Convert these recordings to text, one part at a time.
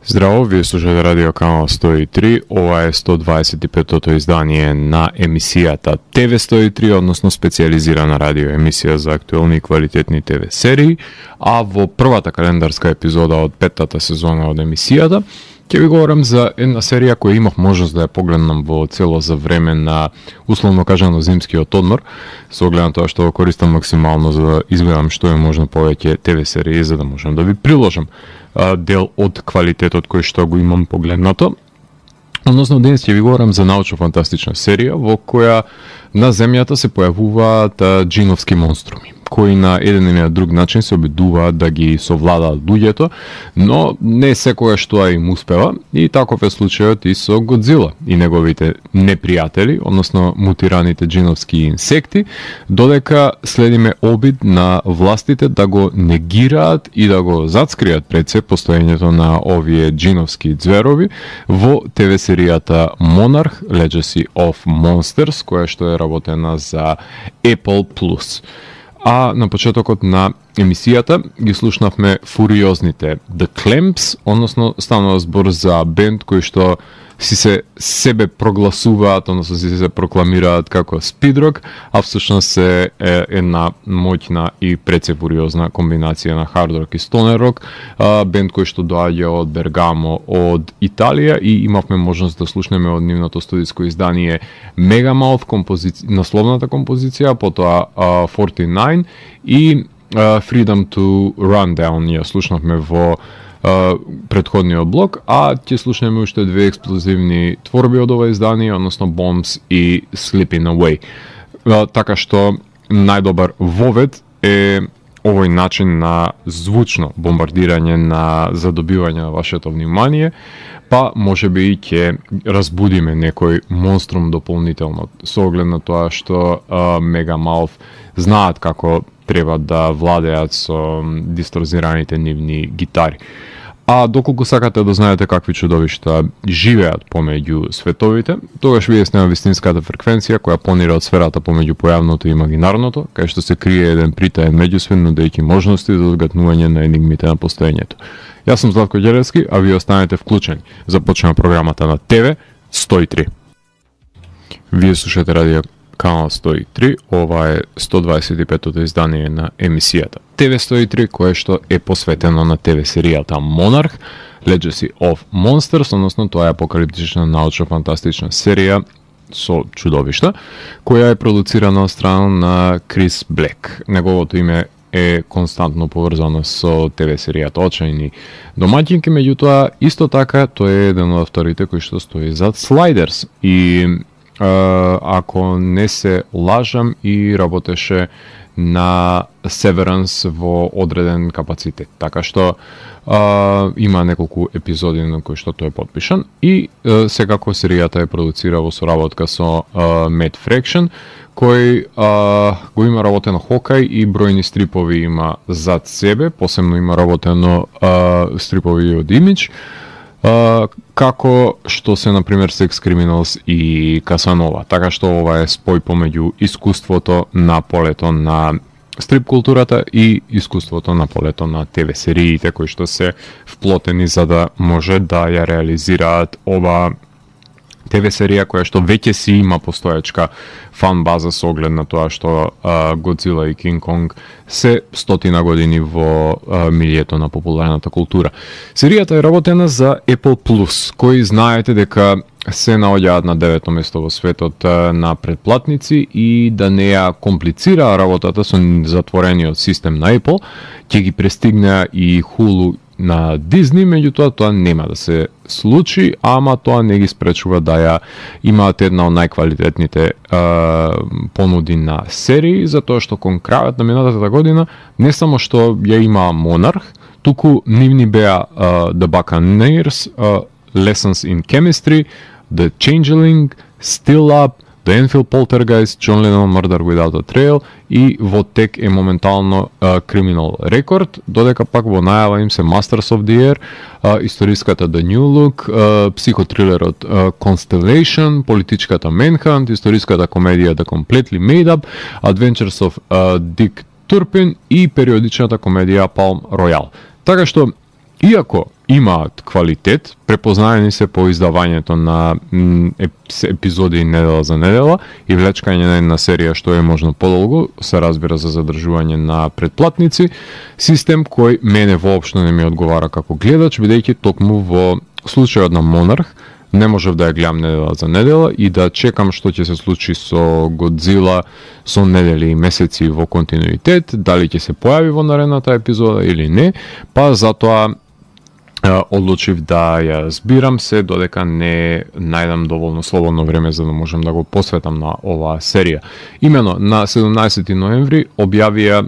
Здраво, вие слушате радио канал 103, ова е 125-тото издание на емисијата ТВ 103, односно специјализирана радио емисија за актуелни и квалитетни ТВ серии, а во првата календарска епизода од петтата сезона од емисијата ќе ви говорам за една серија која имав можност да ја погледнам во цело за време на, условно кажано, зимскиот одмор, со оглед на тоа што го користам максимално за да изгледам што е можно повеќе ТВ серии за да можам да ви приложам дел од квалитетот кој што го имам погледнато. Односно, денес ќе ви говорам за научно-фантастична серија во која на земјата се појавуваат джиновски монструми, кои на еден или на друг начин се обидуваат да ги совладаат луѓето, но не секогаш тоа им успева, и таков е случајот и со Годзила и неговите непријатели, односно мутираните джиновски инсекти, додека следиме обид на властите да го негираат и да го зацкријат пред се постоењето на овие джиновски ѕверови во ТВ серијата Monarch: Legacy of Monsters, која што е работена за Apple+. А на почетокот на емисијата ги слушнавме фуриозните The Clamps, односно станува збор за бенд кој што си се себе прогласуваат, односно си се прокламираат како спидрок, а всушност се една моќна и прецефуриозна комбинација на хард-рок и стонер-рок, бенд кој што доаѓа од Бергамо, од Италија, и имавме можност да слушнеме од нивното студиско издание Megamouth, насловната композиција, потоа 49 и Freedom to Rundown ја слушнавме во предходниот блок, а ќе слушнеме уште две експлозивни творби од ова издание, односно Bombs и Slipping Away. Така што најдобар вовед е овој начин на звучно бомбардирање на задобивање на вашето внимание, па можеби и ќе разбудиме некој монструм дополнително, со оглед на тоа што Megamouth знаат како треба да владеат со дисторзираните нивни гитари. А доколку сакате да знаете какви чудовишта живеат помеѓу световите, тогаш вие сте на вистинската фреквенција која понира од сферата помеѓу појавното и имагинарното, кај што се крие еден притаен меѓусвет, нудејќи можности за одгатнување на енигмите на постоењето. Јас сум Златко Ѓелевски, а вие останете вклучени. Започнува програмата на ТВ 103. Вие слушате радио канал 103, ова е 125-тото издание на емисијата ТВ 103, кое што е посветено на ТВ серијата Monarch: Legacy of Monsters, односно тоа е апокалиптична научно-фантастична серија со чудовишта, која е продуцирана од страна на Крис Блек. Неговото име е константно поврзано со ТВ серијата Очајни домаќинки, меѓутоа исто така тој е еден од авторите кој што стои зад Sliders и ако не се лажам и работеше на Severance во одреден капацитет. Така што има неколку епизоди на кои што тој е подпишан и секако серијата е продуцира во соработка со Matt Fraction, кој го има работено Хокај и бројни стрипови има зад себе, посебно има работено стрипови од Image, како што се, например, Sex Criminals и Касанова. Така што ова е спој помеѓу искуството на полето на стрип културата и искуството на полето на ТВ сериите, кои што се вплотени за да може да ја реализираат ова ТВ серија која што веќе си има постоечка фан база со оглед на тоа што Годзила и Кинг Конг се 100 години во милието на популарната култура. Серијата е работена за Apple+, кои знаете дека се наоѓаат на 9-то место во светот на претплатници, и да не ја комплицира работата со затворениот систем на Apple, ќе ги престигне и Hulu на Disney, меѓутоа тоа нема да се случи, ама тоа не ги спречува да ја имаат една од најквалитетните понуди на серии, затоа што кон крајот на минатата година не само што ја има Monarch, туку нивни беа The Buccaneers, Lessons in Chemistry, The Changeling, Still Up, The Enfield Poltergeist, John Lennon Murder Without a Trail, и во тек е моментално Criminal Record, додека пак во најава им се Masters of the Air, историската The New Look, психотрилерот Constellation, политичката Manhunt, историската комедија The Completely Made Up, Adventures of Dick Turpin и периодичната комедија Palm Royale. Така што, иако имаат квалитет, препознаени се по издавањето на епизоди недела за недела и влечкање на една серија што е можно подолго, се разбира за задржување на претплатници, систем кој мене воопшто не ми одговара како гледач, бидејќи токму во случајот на Монарх не можев да ја гледам недела за недела и да чекам што ќе се случи со Годзила со недели и месеци во континуитет, дали ќе се појави во наредната епизода или не, па затоа одлучив да ја збирам се додека не најдам доволно слободно време за да можам да го посветам на оваа серија. Имено на 17 ноември објавија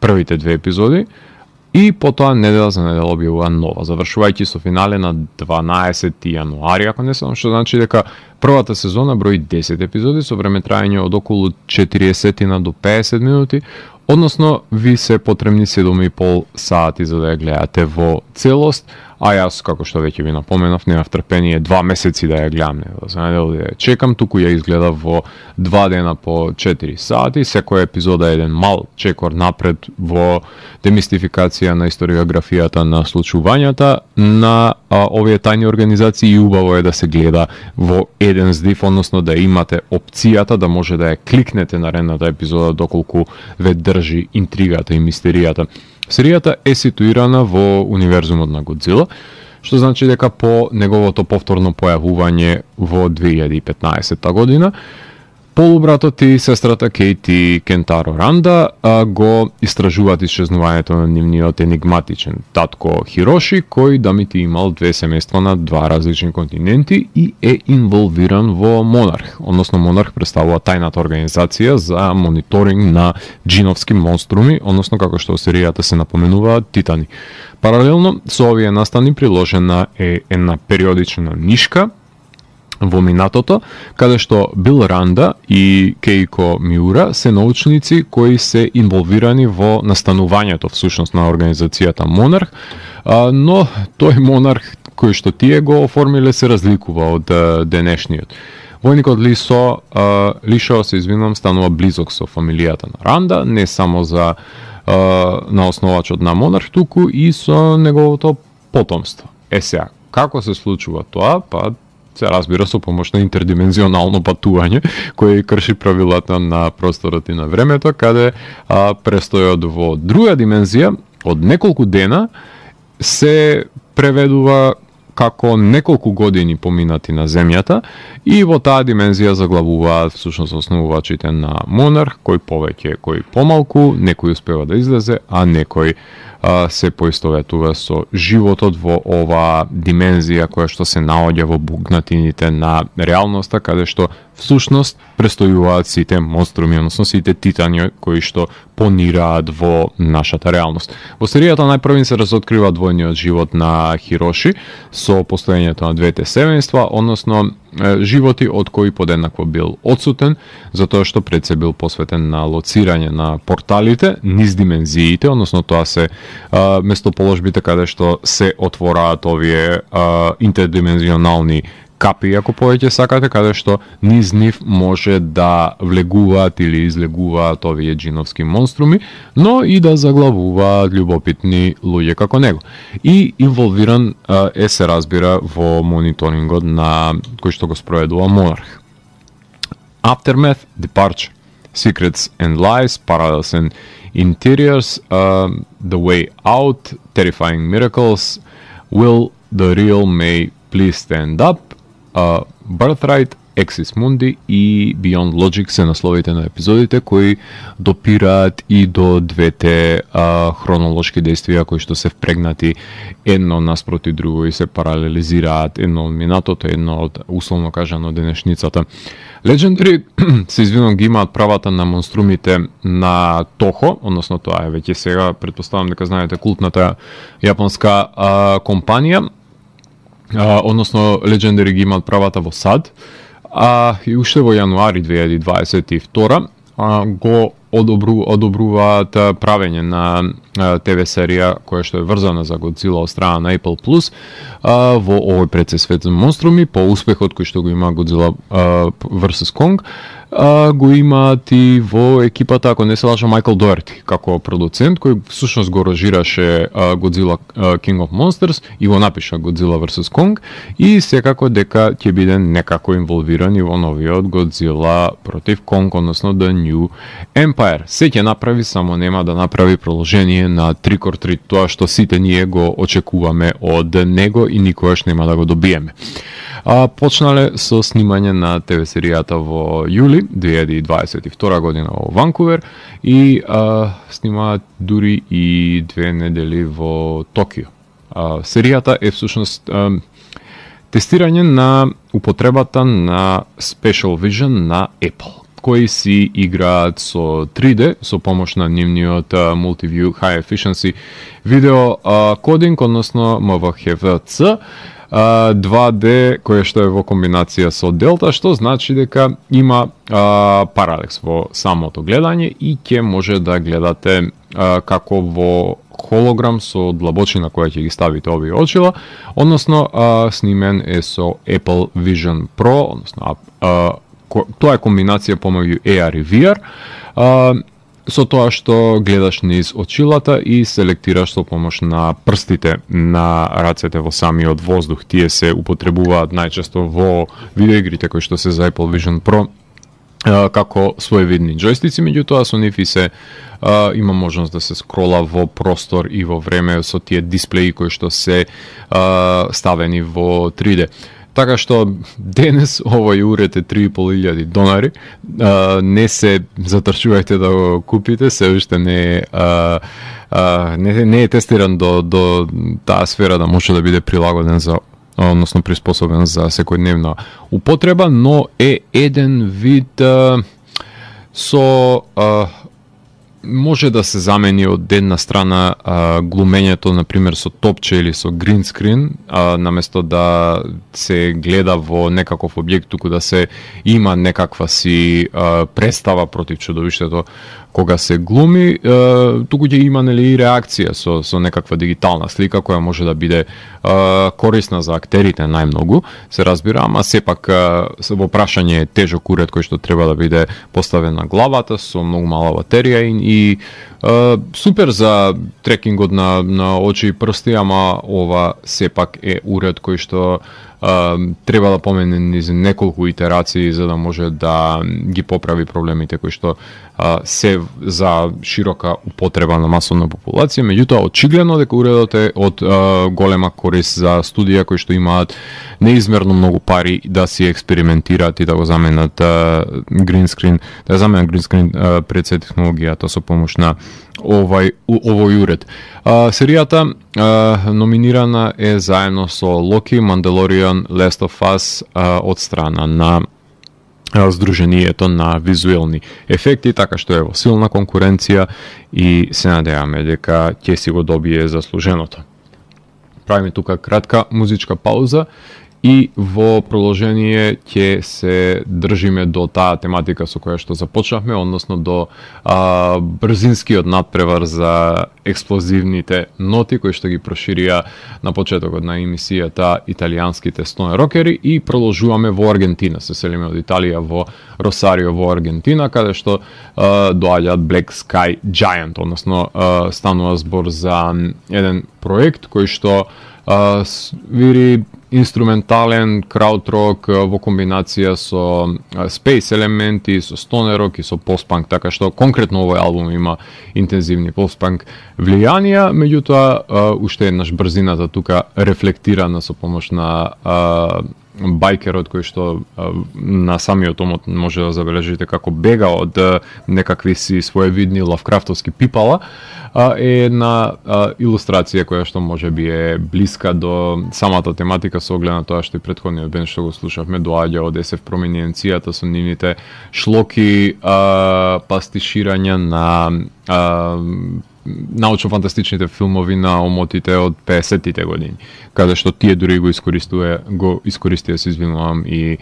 првите две епизоди и потоа недела за недела објавува нова, завршувајќи со финале на 12 јануари, ако не сум, што значи дека првата сезона брои 10 епизоди со време трајање од околу 40 до 50 минути, односно ви се потребни 7,5 сати за да ја гледате во целост, а јас, како што веќе ви напоменав, немав трпение 2 месеци да ја гледам, за недела да ја чекам, туку ја изгледав во 2 дена по 4 сати, секоја епизода е еден мал чекор напред во демистификација на историографијата на случувањата на овие тајни организации и убаво е да се гледа во еден здив, односно да имате опцијата да може да ја кликнете на наредната епизода доколку ве држи интригата и мистеријата. Серијата е ситуирана во универзумот на Годзила, што значи дека по неговото повторно појавување во 2015 година, полубратот и сестрата Кейти Кентаро Ранда го истражуваат исчезнувањето на нивниот енигматичен татко Хироши, кој дамити имал две семејства на два различни континенти и е инволвиран во Монарх. Односно Монарх представува тајната организација за мониторинг на джиновски монструми, односно како што во серијата се напоменуваат титани. Паралелно со овие настани приложена е една периодична нишка во минатото, каде што Бил Ранда и Кейко Миура се научници кои се инволвирани во настанувањето всушност на организацијата Монарх, но тој Монарх кој што тие го оформиле се разликува од денешниот. Војникот Лишо се извинувам, станува близок со фамилијата на Ранда, не само за на основачот на Монарх, туку и со неговото потомство. Сега, како се случува тоа? Па се разбира со помош на интердимензионално патување, кој крши правилата на просторот и на времето, каде престојот во друга димензија од неколку дена се преведува како неколку години поминати на земјата и во таа димензија заглавуваат всушност основувачите на Монарх, кој повеќе, кој помалку, некој успева да излезе, а некој се поистоветува со животот во оваа димензија која што се наоѓа во букнатините на реалноста, каде што всушност престојуваат сите монструми, односно сите титани кои што понираат во нашата реалност. Во серијата најпрви се разоткрива двојниот живот на Хироши со постоењето на двете семејства, односно животи од кои подеднакво бил одсутен, затоа што пред се бил посветен на лоцирање на порталите низ димензиите, односно тоа се местоположбите каде што се отвораат овие интердимензионални капи, ако повеќе сакате, каде што низ нив може да влегуваат или излегуваат овие джиновски монструми, но и да заглавуваат љубопитни луѓе како него. И инволвиран е, се разбира, во мониторингот на кој што го спроведува Монарх. Aftermath, Departure, Secrets and Lies, Parallels and Interiors, The Way Out, Terrifying Miracles, Will the Real May Please Stand Up, Birthright, Exis Mundi и Beyond Logic се насловите на епизодите кои допираат и до двете хронолошки действија кои што се впрегнати едно наспроти друго и се паралелизираат, едно од минатото, едно од условно кажано денешницата. Legendary се извинувам, ги имаат правата на монструмите на Toho, односно тоа е веќе сега, претпоставам дека знаете култната јапонска компанија, односно Legendary ги имаат правата во САД, и уште во јануари 2022 го одобруваат правење на ТВ серија која што е врзана за Годзила од страна на Apple Plus во овој предсветен монструми по успехот кој што го има Годзила vs Kong. Го имаат и во екипата, ако не се лажам, Майкл Доерти како продуцент, кој всушност го режираше Godzilla King of Monsters и го напиша Godzilla vs Kong, и секако дека ќе биде некако инволвиран и во новиот Godzilla против Kong, односно The New Empire. Се ќе направи, само нема да направи продолжение на Trick or Treat, тоа што сите ние го очекуваме од него и никогаш нема да го добиеме. Почнале со снимање на ТВ серијата во јули 2022 година во Ванкувер и снимаат дури и 2 недели во Токио. Серијата е всушност тестирање на употребата на Special Vision на Apple, кои си играат со 3D со помош на нивниот Multiview High Efficiency видео кодинг, односно MVHC, 2D кој што е во комбинација со Delta, што значи дека има паралекс во самото гледање и ќе може да гледате како во холограм со длабочина која ќе ги ставите овие очила, односно снимен е со Apple Vision Pro, односно тоа е комбинација помеѓу AR и VR, со тоа што гледаш низ очилата и селектираш со помош на прстите на рацете во самиот воздух. Тие се употребуваат најчесто во видеоигрите кои што се за Apple Vision Pro како своевидни џојстици, меѓутоа со нив и се има можност да се скрола во простор и во време со тие дисплеи кои што се ставени во 3D. Така што денес овој уред е $3.500. Не се затрчувајте да го купите, се уште не е тестиран до таа сфера да може да биде прилагоден за, односно приспособен за секојдневна употреба, но е еден вид со може да се замени од една страна глумењето, например, со топче или со грин скрин, наместо да се гледа во некаков објект, туку да се има некаква си представа против чудовиштето кога се глуми, туку ќе има нели и реакција со некаква дигитална слика која може да биде корисна за актерите најмногу, се разбира, ама сепак во прашање е тежок уред кој што треба да биде поставен на главата со многу мала батерија и супер за трекингот на очи и прсти, ама ова сепак е уред кој што треба да помене низ неколку итерации за да може да ги поправи проблемите кои што се за широка употреба на масовна популација. Меѓутоа, очигледно дека уредот е од голема корист за студија кои што имаат неизмерно многу пари да си експериментираат и да го заменат гринскрин, да заменат гринскрин пред се технологијата со помош на овој уред. Серијата номинирана е заедно со Локи, Mandalorian, Last of Us од страна на Сдруженијето на визуелни ефекти, така што е во силна конкуренција и се надеваме дека ќе си го добие заслуженото. Правиме тука кратка музичка пауза и во продолжение ќе се држиме до таа тематика со која што започнавме, односно до брзинскиот надпревар за експлозивните ноти кои што ги проширија на почетокот на емисијата италијанските стоне рокери и продолжуваме во Аргентина. Се селиме од Италија во Росарио во Аргентина, каде што доаѓаат Black Sky Giant, односно станува збор за еден проект кој што вири инструментален краудрок во комбинација со спейс елементи, со стонерок и со постпанк, така што конкретно овој албум има интензивни постпанк влијанија, меѓутоа уште еднаш брзината тука рефлектирана со помош на байкерот кој што на самиот омот може да забележите како бега од некакви си своевидни лавкрафтовски пипала, е една илустрација која што може би е блиска до самата тематика со оглед на тоа што и претходниот бенд што го слушавме доаѓа од SF Проминенцијата со нивните шлоки пастиширања на научно-фантастичните филмови на омотите од 50-тите години, каде што тие дури го искористија, се извинувам, и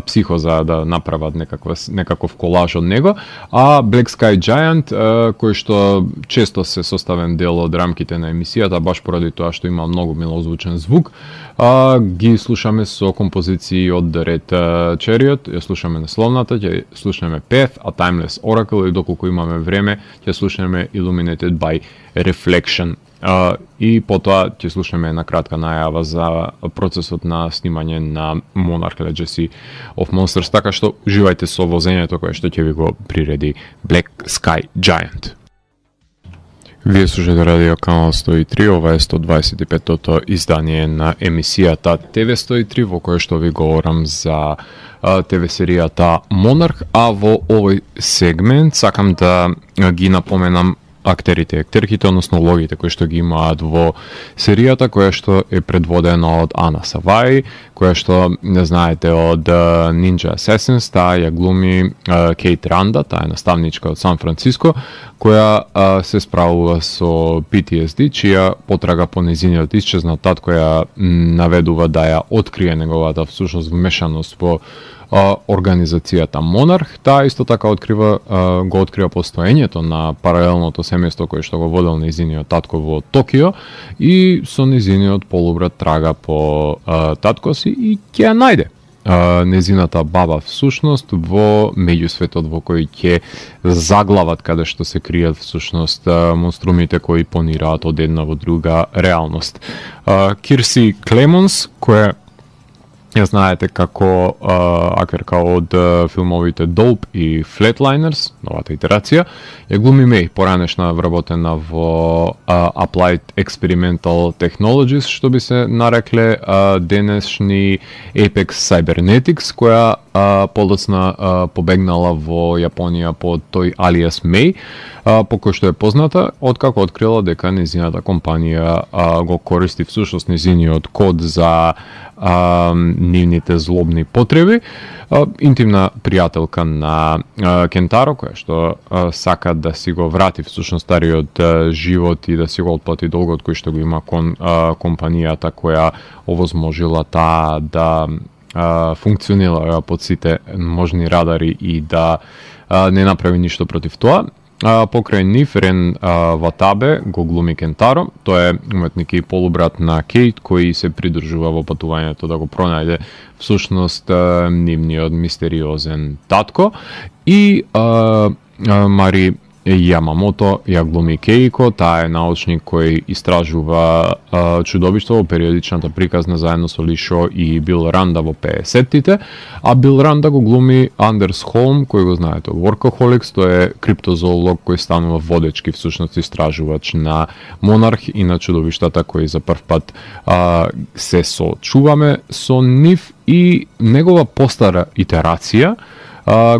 психоза да направат некаков колаж од него, а Black Sky Giant, кој што често се составен дел од рамките на емисијата, баш поради тоа што има многу милозвучен звук, ги слушаме со композиции од The Red Chariot, ја слушаме насловната, ќе слушаме Path, A Timeless Oracle и доколку имаме време, ќе слушаме Illuminated by Reflection. И потоа ќе слушаме една кратка најава за процесот на снимање на Monarch Legacy of Monsters, така што уживајте со возењето кое што ќе ви го приреди Black Sky Giant. Вие слушате радио канал 103, ова е 125-тото издание на емисијата ТВ 103, во кое што ви говорам за ТВ серијата Monarch, а во овој сегмент сакам да ги напоменам актерите, актерките, односно улогите кои што ги имаат во серијата, која што е предводена од Ана Саваи, која што не знаете од Ninja Assassins, таа ја глуми Кейт Ранда, таа е наставничка од Сан Франциско, која се справува со PTSD, чија потрага по нејзиниот исчезнат татко ја наведува да ја открие неговата всушност вмешаност во организацијата Monarch. Таа исто така го открива постоењето на паралелното семејство кое што го водел нејзиниот татко во Токио и со нејзиниот полубрат трага по татко си и ќе ја најде нејзината баба всушност во меѓусветот во кој ќе заглават, каде што се кријат всушност монструмите кои понираат од една во друга реалност. Кирси Клемонс, која ја знаете како актерка од филмовите Dope и Flatliners, новата итерација, ја глуми Меј, поранешна вработена во Applied Experimental Technologies, што би се нарекле денешни Apex Cybernetics, која подоцна побегнала во Јапонија под тој алиас Меј, по кој што е позната, откако открила дека нејзината компанија го користи всушност нејзиниот код за нивните злобни потреби. Интимна пријателка на Кентаро, која што сака да си го врати всушност стариот живот и да си го отплати долгот кој што го има кон компанијата која овозможила таа да функционира под сите можни радари и да не направи ништо против тоа. Покрај нив Рен Ватабе го глуми Кентаро, тој е уметник и полубрат на Кейт кој се придржува во патувањето да го пронајде всушност нивниот мистериозен татко, и Мари Јамамото ја глуми Кейко, таа е научник кој истражува чудовишта во периодичната приказна заедно со Ли Шо и Бил Ранда во 50-тите, а Бил Ранда го глуми Андерс Холм, кој го знаете од Workaholics, тој е криптозоолог кој станува водечки всушност истражувач на Монарх и на чудовиштата кои за прв пат се сочуваме со нив, и негова постара итерација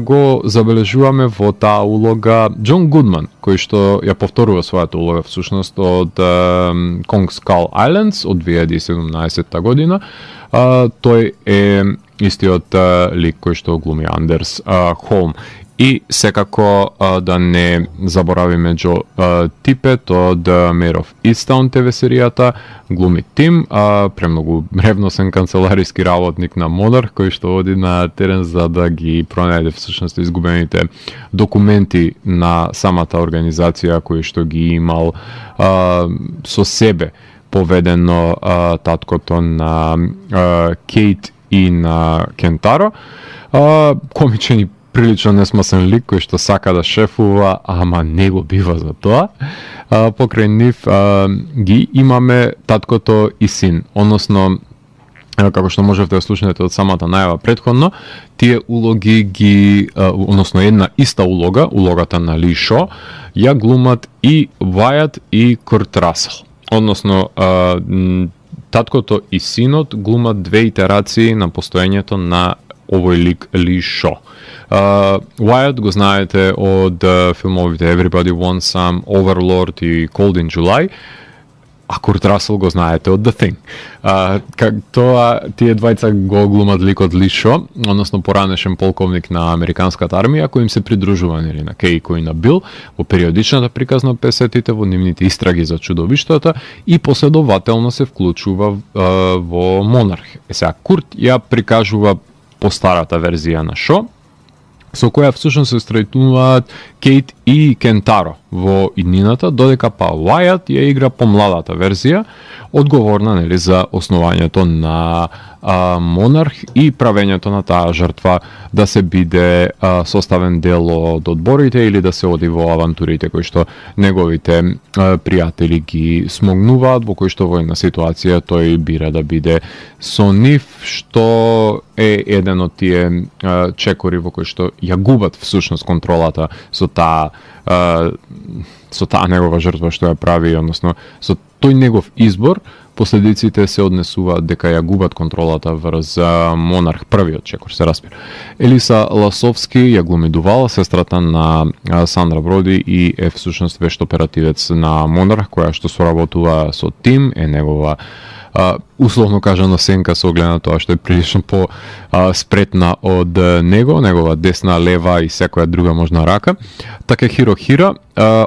го забележуваме во таа улога Џон Гудман, кој што ја повторува својата улога всушност од Kong Skull Islands од 2017 година. Тој е истиот лик кој што глуми Андерс Холм. И секако да не заборавиме Џо Типет од Mayor of Easttown ТВ серијата, глуми Тим, премногу ревносен канцелариски работник на Monarch, кој што оди на терен за да ги пронајде всушност изгубените документи на самата организација кој што ги имал со себе поведено таткото на Кейт и на Кентаро. Комичен и прилично несмасен лик кој што сака да шефува, ама не го бива за тоа. Покрај нив ги имаме таткото и син, односно како што можевте да слушнете од самата најава претходно, тие улоги ги, односно една иста улога, улогата на Ли Шо, ја глумат и Вајат и Курт Расел. Односно таткото и синот глумат две итерации на постоењето на овој лик Ли Шо. Wyatt го знаете од филмовите Everybody Wants Some, Overlord и Cold in July, а Курт Расел го знаете од The Thing. Тие двајца го глумат ликот Ли Шо, односно поранешен полковник на американската армија, кој им се придружува на Кейко и на Бил во периодичната приказна 50-тите во нивните истраги за чудовиштата и последователно се вклучува во Монарх. Сега Курт ја прикажува постарата верзија на шо, со која всушност се стретнуваат Кейт и Кентаро во иднината, додека па Уајат ја игра помладата верзија, одговорна нели за основањето на Монарх и правењето на таа жртва да се биде составен дел од одборите или да се оди во авантурите кои што неговите пријатели ги смогнуваат, во кои што во една ситуација тој бира да биде со нив, што е еден од тие чекори во кои што ја губат всушност контролата со таа негова жртва што ја прави, односно со тој негов избор, последиците се однесуваат дека ја губат контролата врз Монарх, првиот чекор се распира. Елиса Ласовски ја глуми Дувал, сестрата на Сандра Броди и е всушност вешт оперативец на Монарх, која што соработува со Тим, е негова условно кажано сенка со оглед на тоа што е прилично по спретна од него, негова десна, лева и секоја друга можна рака. Такехиро Хира,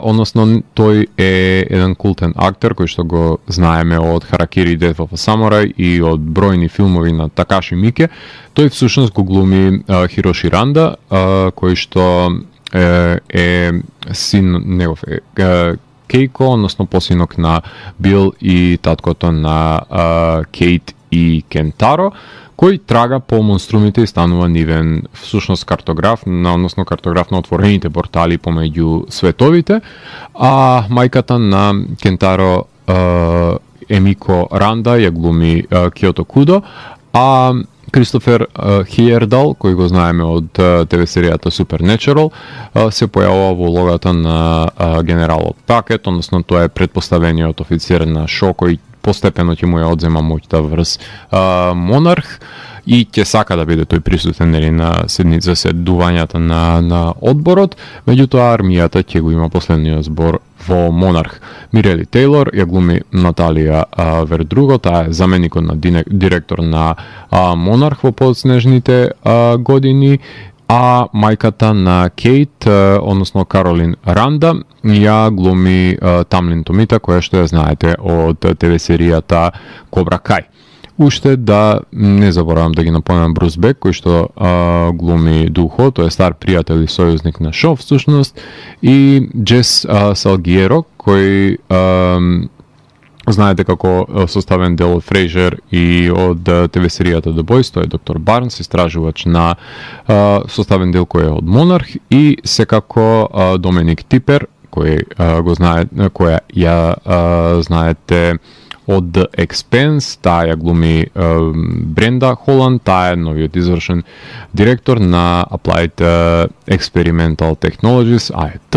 односно тој е еден култен актер кој што го знаеме од Харакири Death of a Samurai и од бројни филмови на Такаши Мике. Тој всушност го глуми Хироши Ранда, кој што е син негов Кейко, односно посинок на Бил и таткото на Кейт и Кентаро, кој трага по монструмите и станува нивен всушност картограф, односно картограф на отворените портали помеѓу световите, а мајката на Кентаро Емико Ранда ја глуми Киото Кудо, а Кристофер Хиердал, кој го знаеме од ТВ серијата Supernatural, се појавува во улогата на генералот Пакет, односно тоа е предпоставениот офицер на шо кој постепено ќе му ја одзема моќта врз Монарх и ќе сака да биде тој присутен нели на заседувањата на одборот, меѓутоа армијата ќе го има последниот збор во Монарх. Мирели Тейлор ја глуми Наталија Вердруго, таа е заменикот на директор на Монарх во подснежните години, а мајката на Кейт, односно Каролин Ранда, ја глуми Тамлин Томита, која што ја знаете од ТВ серијата Кобра Кај. Уште да не заборавам да ги напомнам Брус Бек, кој што глуми Духо, тој е стар пријател и сојузник на шо всушност, и Джес Салгиеро, кој знаете како составен дел од Фрейжер и од ТВ серијата The Boys, тој е доктор Барнс, истражувач на составен дел кој е од Монарх, и секако Доминик Типер, кој го знае, која ја знаете од The Expanse, таа ја глуми Бренда Холанд, таа е новиот извршен директор на Applied Experimental Technologies, AET,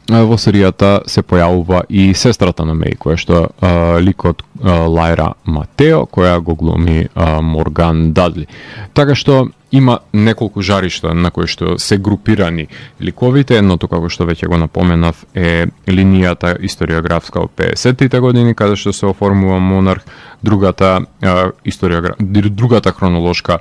во серијата се појавува и сестрата на Меј, која што ликот Лајра Матео, која го глуми Морган Дадли. Така што има неколку жаришта на кои што се групирани ликовите. Едното, како што веќе го напоменав, е линијата историографска од 50-тите години, каде што се оформува Монарх, другата хронолошка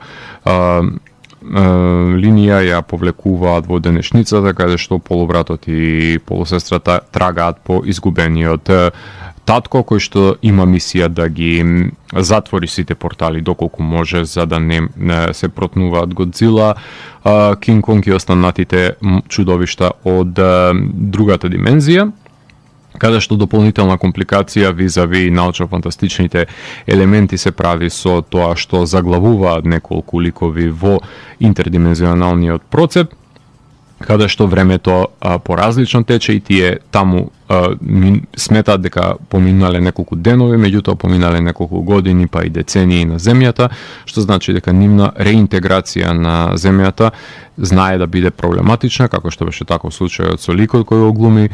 линија ја повлекуваат во денешницата, каде што полубратот и полусестрата трагаат по изгубениот татко, кој што има мисија да ги затвори сите портали доколку може, за да не се протнуваат Годзила, Кинг Конг и останатите чудовишта од другата димензија, каде што дополнителна компликација визави научно-фантастичните елементи се прави со тоа што заглавуваат неколку ликови во интердимензионалниот процеп, каде што времето поразлично тече и тие таму сметаат дека поминале неколку денови, меѓутоа поминале неколку години па и децении на земјата, што значи дека нивна реинтеграција на земјата знае да биде проблематична, како што беше таков случајот со ликот кој го глуми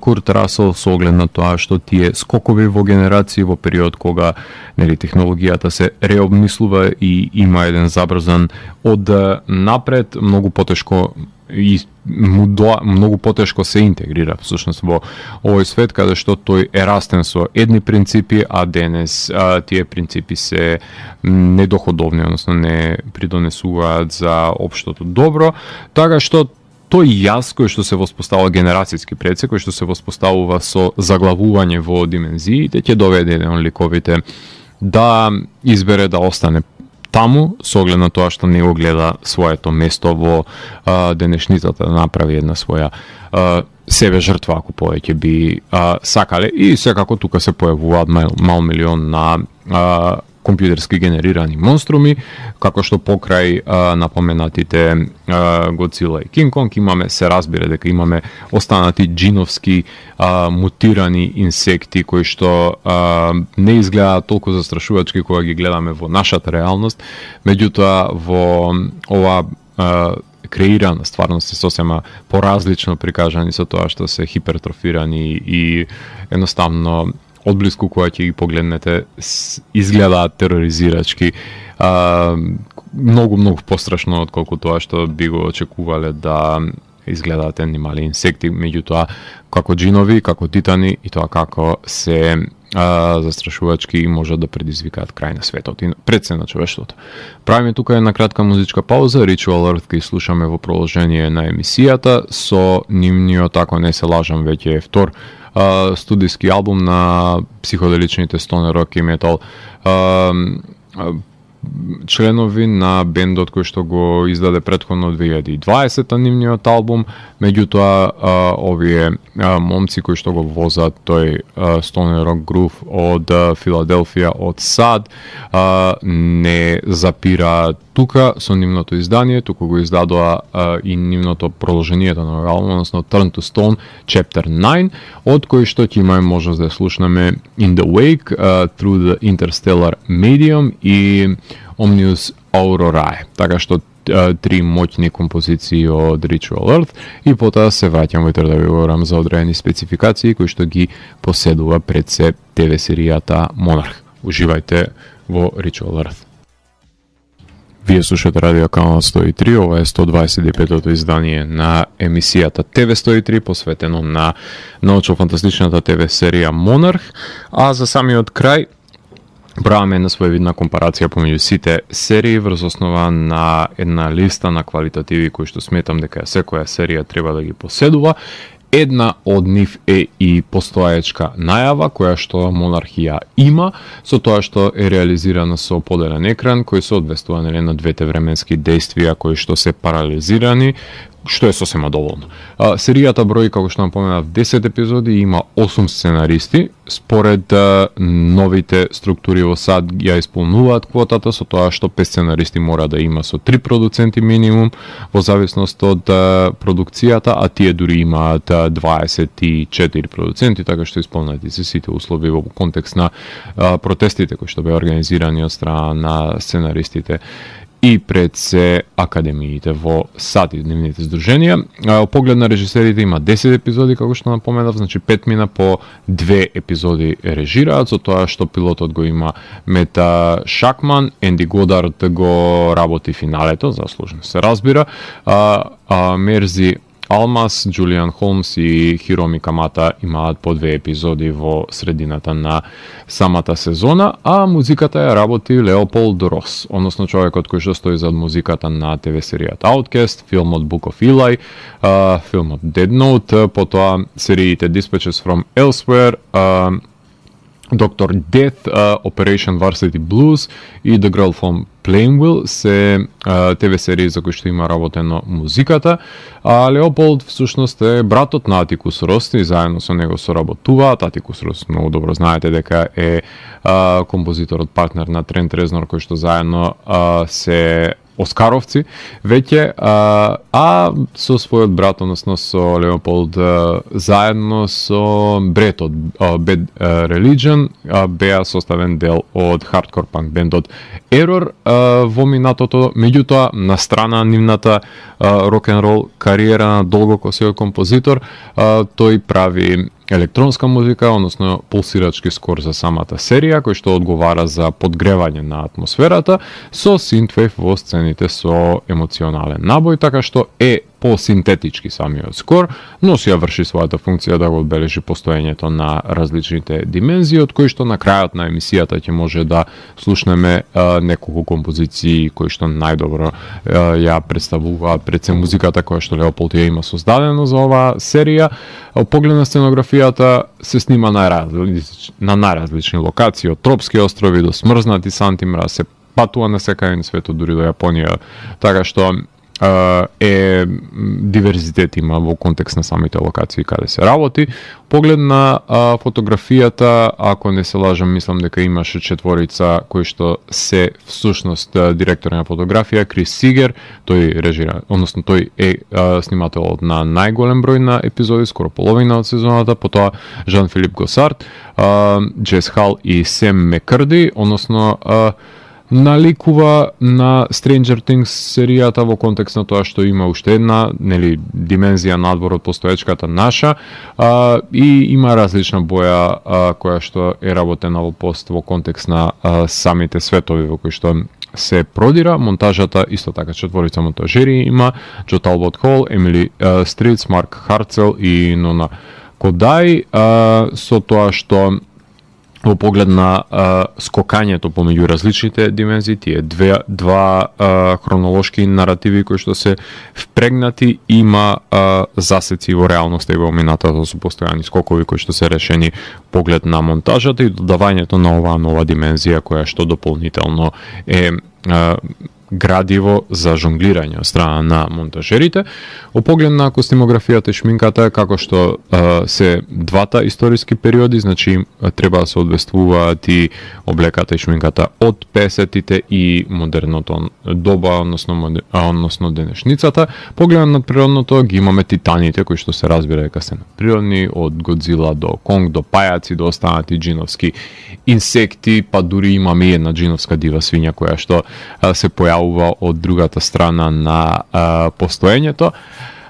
Курт Расел, со оглед на тоа што тие скокови во генерации во период кога нели технологијата се реобмислува и има еден забрзан од напред, многу потешко и многу потешко се интегрира всушност во овој свет, каде што тој е растен со едни принципи, а денес тие принципи се недоходовни, односно не придонесуваат за општото добро, така што тој јас кој што се воспоставува генерацијски предсек, кој што се воспоставува со заглавување во димензиите, ќе доведе еден ликовите да избере да остане таму, со оглед на тоа што не го гледа своето место во денешницата да направи една своја себе жртва, ако повеќе би сакале. И секако тука се појавуваат мал милион на компјутерски генерирани монструми, како што покрај напоменатите Godzilla и King Kong имаме, се разбира дека имаме останати джиновски мутирани инсекти кои што не изгледаат толку застрашувачки кога ги гледаме во нашата реалност, меѓутоа во ова креирана стварност е сосема поразлично прикажани со тоа што се хипертрофирани и едноставно одблиску кога ќе ги погледнете изгледаат тероризирачки, многу пострашно отколку тоа што би го очекувале да изгледаат едни мали инсекти, меѓутоа како джинови, како титани и тоа како се застрашувачки и можат да предизвикаат крај на светот и пред се на човештвото. Правиме тука една кратка музичка пауза, Ritual Earth ки слушаме во продолжение на емисијата со нивниот, ако не се лажам, веќе е втор студиски албум на психоделичните стонер рок и метал, членови на бендот кој што го издаде претходно 2020 нивниот албум, меѓутоа овие момци кои што го возат тој стонер рок грув од Филаделфија, од САД, не запира тука со нивното издание, туку го издадоа и нивното продолжението на албум, односно Turn to Stone Chapter 9, од кој што ќе имаме можност да слушнеме In the Wake, Through the Interstellar Medium и Omnius Aurorae. Така што три моќни композиции од Ritual Earth и потоа се враќам во да ви говорам за одредени спецификации кои што ги поседува пред се ТВ серијата Monarch. Уживајте во Ritual Earth. Вие слушате Радио Канал 103, ова е 125-то издание на емисијата ТВ 103, посветено на научно-фантастичната ТВ серија Monarch, а за самиот крај правиме една своевидна компарација помеѓу сите серии врз основа на една листа на квалитативи кои што сметам дека секоја серија треба да ги поседува. Една од нив е и постоечка најава која што Монархија има, со тоа што е реализирана со поделен екран кој се одвестува на двете временски дејствија кои што се паралелизирани, што е сосема доволно. Серијата брои, како што напоменав, 10 епизоди и има 8 сценаристи. Според новите структури во САД ја исполнуваат квотата со тоа што 5 сценаристи мора да има со 3 продуценти минимум во зависност од продукцијата, а тие дури имаат 24 продуценти, така што исполнати се сите услови во контекст на протестите кои што беа организирани од страна на сценаристите и пред се академиите во САД и нивните здруженија. Поглед на режисерите има 10 епизоди, како што напоменав, значи 5 мина по 2 епизоди режираат, со тоа што пилотот го има Мета Шакман, Енди Годард го работи финалето, заслужено се разбира, Мерзи Алмас, Джулиан Холмс и Хироми Камата имаат по 2 епизоди во средината на самата сезона, а музиката ја работи Леополд Рос, односно човекот кој што стои зад музиката на ТВ серијата Outcast, филмот Book of Eli, филмот Dead Note, потоа сериите Dispatches from Elsewhere, Dr. Death, Operation Varsity Blues и The Girl from Plainville се ТВ серии за кои што има работено музиката. Леополд всушност е братот на Атикус Рос и заедно со него соработуваат. Атикус Рос многу добро знаете дека е композиторот, партнер на Трент Резнор, кој што заедно се оскаровци веќе, а со својот брат, односно со Леополд, заедно со бретот Bad Religion беа составен дел од хардкор панк бендот Error во минатото, меѓутоа на страна нивната рок-н-рол кариера на долгокосиот композитор, тој прави електронска музика, односно пулсирачки скор за самата серија, кој што одговара за подгревање на атмосферата, со синтвейв во сцените со емоционален набој, така што е по-синтетички самиот скор, но си ја врши својата функција да го одбележи постоењето на различните димензии, од кои што на крајот на емисијата ќе може да слушнеме неколку композиции кои што најдобро ја представуваат пред се музиката која што Леополд ја има создадено за оваа серија. Поглед на сценографијата се снима на најразлични локации, од тропски острови до смрзнати Сантимра, се патува на секај на светот, дури до Јапонија, така што е диверзитет има во контекст на самите локации каде се работи. Поглед на фотографијата, ако не се лажам, мислам дека имаше 4 кои што се всушност директори на фотографија, Крис Сигер, тој режира, односно тој е снимателот на најголем број на епизоди, скоро половина од сезоната, потоа Жан-Филип Госард, Джес Хал и Сем Мекрди, односно наликува на Stranger Things серијата во контекст на тоа што има уште една, нели, димензија надвор од постоечката наша, и има различна боја која што е работена во пост во контекст на самите светови во кои што се продира. Монтажата исто така 4 монтажери има: Джо Талбот Хол, Емили Стриц, Марк Харцел и Нона Кодај, со тоа што во поглед на скокањето помеѓу различните димензии, тие два хронолошки наративи кои што се впрегнати, има засеци во реалноста и во минатото со постојани скокови кои што се решени поглед на монтажата и додавањето на оваа нова димензија која што дополнително е градиво за жонглирање од страна на монтажерите. Во поглед на костимографијата и шминката, како што се двата историски периоди, значи треба да се одвествуваат и облеката и шминката од 50-тите и модерното доба, односно денешницата. Погледот на природното, ги имаме титаните кои што се разбира дека се природни, од Годзила до Конг, до пајаци, до останати джиновски инсекти, па дури имаме една джиновска дива свиња која што се појавува од другата страна на постоењето.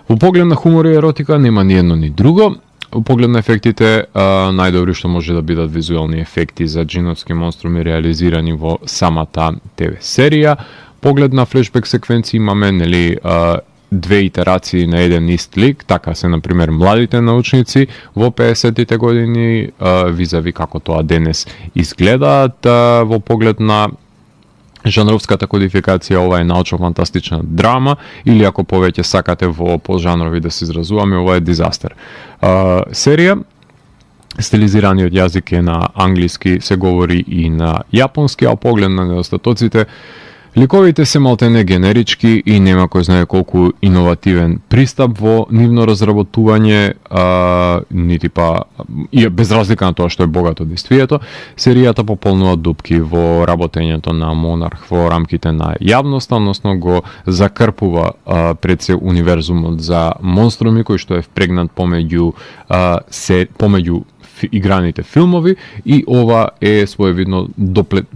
Во поглед на хумор и еротика нема ни едно ни друго. Во поглед на ефектите, најдобри што може да бидат визуелни ефекти за джиновски монструми реализирани во самата ТВ серија. Поглед на флешбек секвенции имаме, нели, две итерации на еден ист лик, така се, например, младите научници во 50-тите години, визави како тоа денес изгледаат. Во поглед на жанровската кодификација, ова е научно-фантастична драма, или ако повеќе сакате во пожанрови да се изразуваме, ова е дизастер. Серија, стилизираниот јазик е на англиски, се говори и на јапонски, а поглед на недостатоците, ликовите се малтене генерички и нема кој знае колку иновативен пристап во нивно разработување, нити па и без разлика на тоа што е богато действието. Серијата пополнува дупки во работењето на Монарх во рамките на јавноста, односно го закрпува пред се универзумот за монструми кој што е впрегнат помеѓу играните филмови, и ова е своевидно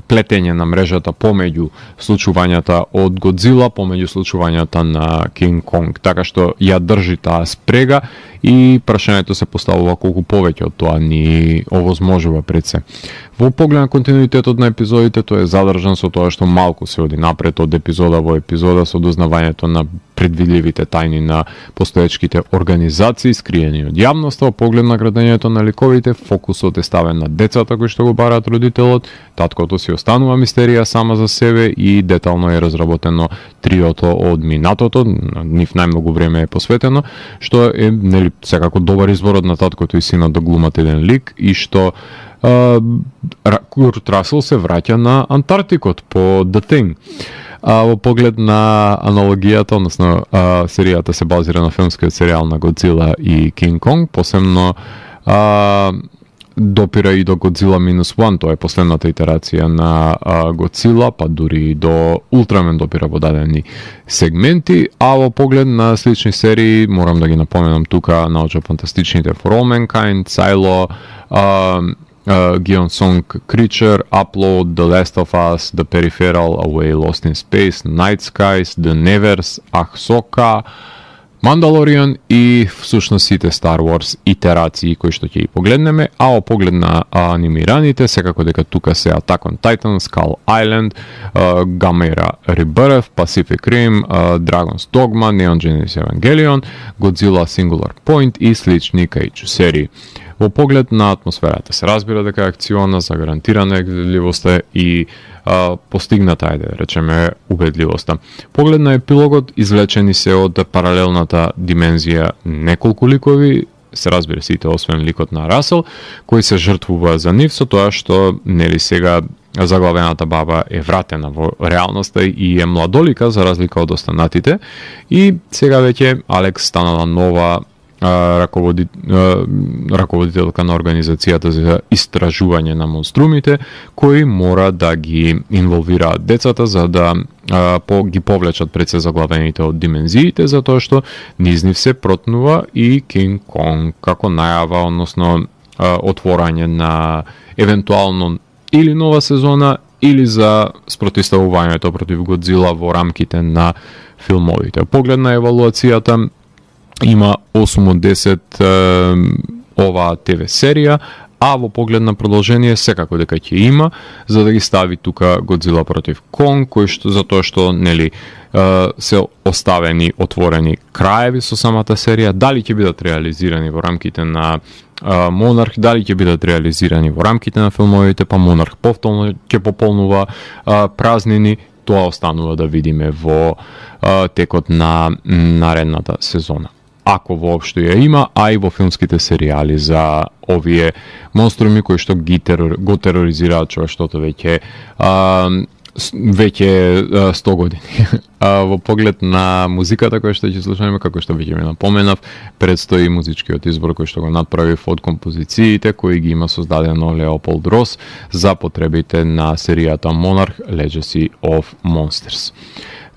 плетење на мрежата помеѓу случувањата од Годзила, помеѓу случувањата на Кинг Конг, така што ја држи таа спрега и прашањето се поставува колку повеќе од тоа ни овозможува пред се. Во поглед на континуитетот на епизодите, тој е задржан со тоа што малку се оди напред од епизода во епизода со дознавањето на предвидливите тајни на постоечките организации скриени од јавноста. Во поглед на градењето на ликовите, фокусот е ставен на децата кои што го бараат родителот, таткото си останува мистерија сама за себе и детално е разработено триото од минатото, нив најмногу време е посветено, што е, нели, секако добар избор на таткото и синот да глумат еден лик, и што Курт Расел се враќа на Антарктикот по The Thing. Во поглед на аналогијата, односно серијата се базира на филмскиот серијал на Годзила и Кинг Конг, посебно допира и до Годзила -1, тоа е последната итерација на Годзила, па дури до Ултрамен допира во дадени сегменти, а во поглед на слични серии, морам да ги напоменам тука, научно-фантастичните For All Mankind, Silo, Gion Song Creature, Upload, The Last of Us, The Peripheral, Away Lost in Space, Night Skies, The Nevers, Ahsoka, Mandalorian и всушност сите Star Wars итерации кои што ќе ги погледнеме, а во поглед на анимираните, секако дека тука се Attack on Titan, Skull Island, Gamma Era Rebirth, Pacific Rim, Dragon's Dogma, Neon Genesis Evangelion, Godzilla Singular Point и слични кајчу серии. Во поглед на атмосферата се разбира дека е акциона, загарантирана гледливоста и постигната, ајде речеме, убедливоста. Поглед на епилогот, извлечени се од паралелната димензија неколку ликови, се разбира сите освен ликот на Расел, кој се жртвува за нив со тоа што, нели, сега заглавената баба е вратена во реалноста и е младолика за разлика од останатите, и сега веќе Алекс станала нова раководителка на организацијата за истражување на монструмите, кои мора да ги инволвираат децата за да ги повлечат пред се заглавените од димензиите, затоа што низ нив се протнува и Кинг Конг како најава, односно отворање на евентуално или нова сезона или за спротивставувањето против Годзила во рамките на филмовите. Поглед на евалуацијата, има 8 од 10 оваа ТВ серија, а во поглед на продолжение секако дека ќе има, за да ги стави тука Годзила против Конг, кој што затоа што нели се оставени отворени краеви со самата серија, дали ќе бидат реализирани во рамките на Монарх, дали ќе бидат реализирани во рамките на филмовите, па Монарх повторно ќе пополнува празнини, тоа останува да видиме во текот на наредната сезона. Ако воопшто ја има, а и во филмските серијали за овие монструми кои што го тероризираат човештвото веќе 100 години. Во поглед на музиката која што ќе слушаме, како што веќе ми напоменав, предстои музичкиот избор кој што го направив од композициите кои ги има создадено Леополд Рос за потребите на серијата Monarch Legacy of Monsters.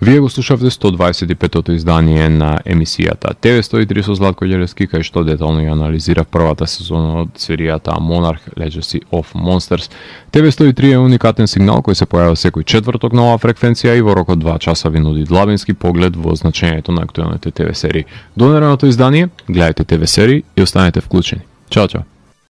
Вие го слушавте 125-тото издание на емисијата ТВ103 со Златко Ѓелевски, кај што детално ја анализира првата сезона од серијата Monarch Legacy of Monsters. ТВ103 е уникатен сигнал кој се појавува секој четврток на оваа фреквенција и во рок од 2 часа ви нуди длабински поглед во значењето на актуелните ТВ серии. До наредното издание, гледајте ТВ серии и останете вклучени. Чао, чао!